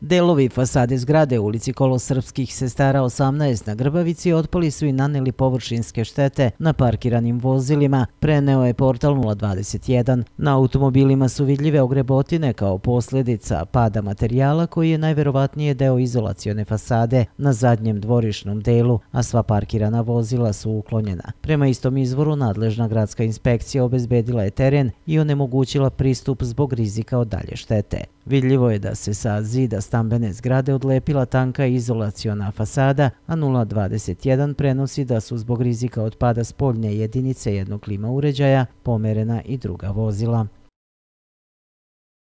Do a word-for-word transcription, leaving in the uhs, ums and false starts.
Delovi fasade zgrade u ulici Kolosrpskih sestara osamnaest na Grbavici otpali su i naneli površinske štete na parkiranim vozilima, preneo je portal nula dvadeset jedan. Na automobilima su vidljive ogrebotine kao posljedica pada materijala koji je najverovatnije deo izolacione fasade na zadnjem dvorišnom delu, a sva parkirana vozila su uklonjena. Prema istom izvoru, nadležna gradska inspekcija obezbedila je teren i onemogućila pristup zbog rizika od dalje štete. Vidljivo je da se sa zida stambene zgrade odlepila tanka izolaciona fasada, a nula dvadeset jedan prenosi da su zbog rizika od pada spoljne jedinice jednog klima uređaja pomerena i druga vozila.